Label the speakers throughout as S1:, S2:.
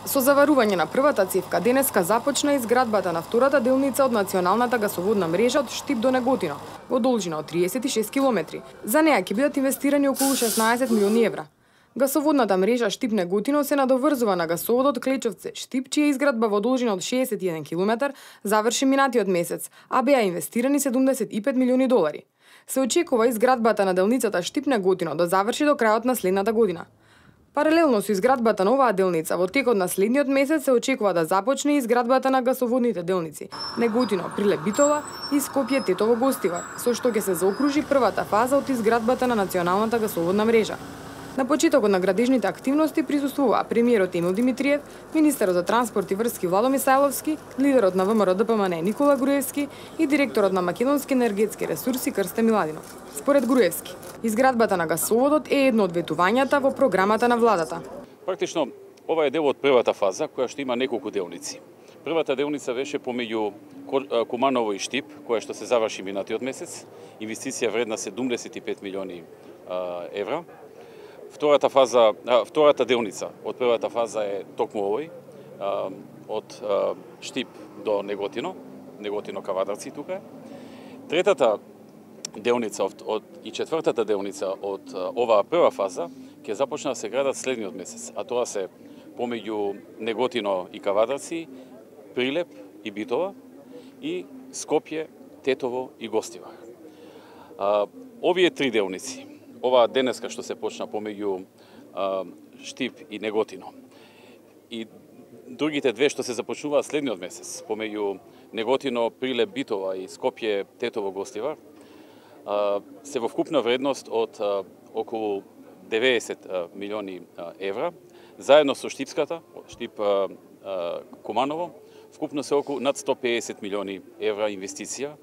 S1: Со заварување на првата цевка денеска започна изградбата на втората делница од националната гасоводна мрежа од Штип до Неготино, во должина од 36 километри. За неа ќе бидат инвестирани околу 16 милиони евра. Гасоводната мрежа Штип Неготино се надоврзува на гасоводот Клечовце Штип, чија изградба во должина од 61 километар заврши минатиот месец, а беа инвестирани 75 милиони долари. Се очекува изградбата на делницата Штип Неготино да заврши до крајот на следната година. Паралелно со изградбата на оваа делница, во текот на следниот месец се очекува да започне изградбата на гасоводните делници Неготино Прилеп Битола и Скопје Тетово Гостивар, со што ќе се заокружи првата фаза од изградбата на националната гасоводна мрежа. На почетокот на градежните активности присуствуваа премиерот Емил Димитриев, министерот за транспорт и врски Владо Мисајловски, лидерот на ВМРО-ДПМН Никола Груевски и директорот на Македонски енергетски ресурси Крсте Миладинов. Според Груевски, изградбата на гасоводот е едно од ветувањата во програмата на владата.
S2: Практично, ова е дел од првата фаза, која што има неколку делници. Првата делница беше помеѓу Куманово и Штип, која што се заврши минатиот месец, инвестиција вредна 75 милиони евра. Втората делница од првата фаза е токму овој, од Штип до Неготино, Неготино Кавадарци тука е. Третата делница и четвртата делница од оваа прва фаза ќе започна да се градат следниот месец, а тоа се помеѓу Неготино и Кавадарци, Прилеп и Битола и Скопје, Тетово и Гостивар. Овие три делници, ова денеска што се почна помеѓу Штип и Неготино и другите две што се започнуваат следниот месец помеѓу Неготино, Прилеп, Битола и Скопје, Тетово, Гостивар, се во вкупна вредност од околу 90 милиони евра, заедно со Штипската, Штип Куманово, вкупно се околу над 150 милиони евра инвестиција.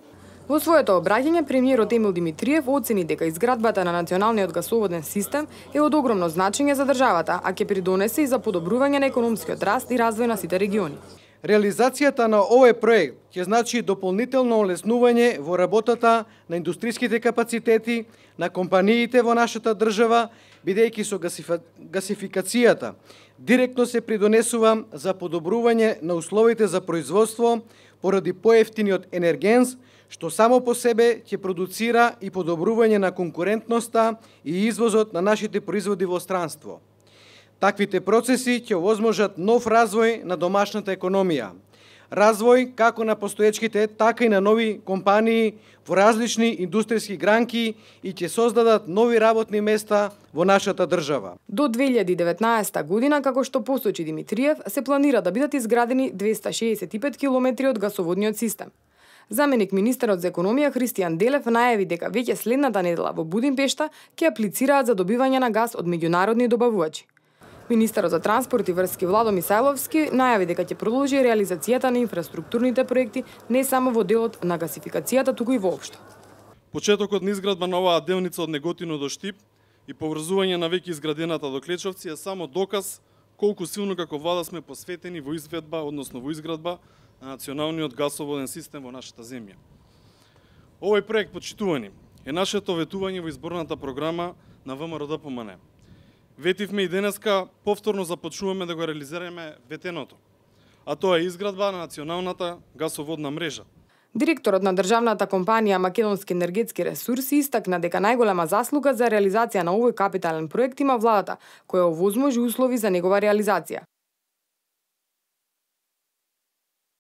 S1: Во своето обраќање, премиерот Емил Димитриев оцени дека изградбата на националниот гасоводен систем е од огромно значење за државата, а ќе придонесе и за подобрување на економскиот раст и развој на сите региони.
S3: Реализацијата на овој проект ќе значи дополнително олеснување во работата на индустриските капацитети на компаниите во нашата држава, бидејќи со гасификацијата директно се придонесува за подобрување на условите за производство поради поевтиниот енергенс, што само по себе ќе продуцира и подобрување на конкурентноста и извозот на нашите производи во странство. Таквите процеси ќе овозможат нов развој на домашната економија. Развој како на постоечките, така и на нови компании во различни индустријски гранки и ќе создадат нови работни места во нашата држава.
S1: До 2019 година, како што посочи Димитриев, се планира да бидат изградени 265 километри од гасоводниот систем. Заменик министерот за економија Христијан Делев најави дека веќе следната недела во Будимпешта ќе аплицираат за добивање на газ од меѓународни добавувачи. Министерот за транспорт и врски Владо Мисајловски најави дека ќе продолжи реализацијата на инфраструктурните проекти не само во делот на гасификацијата, туку и воопшто.
S4: Почетокот на изградба на оваа делница од Неготино до Штип и поврзување на веќе изградената до Клечовци е само доказ колку силно како влада сме посветени во изведба, односно во изградба на националниот гасоводен систем во нашата земја. Овој проект, почитувани, е нашето ветување во изборната програма на ВМРО-ДПМН. Ветивме и денеска повторно започнуваме да го реализираме ветеното, а тоа е изградба на националната гасоводна мрежа.
S1: Директорот на државната компанија Македонски енергетски ресурси истакна дека најголема заслуга за реализација на овој капитален проект има владата, која овозможи услови за негова реализација.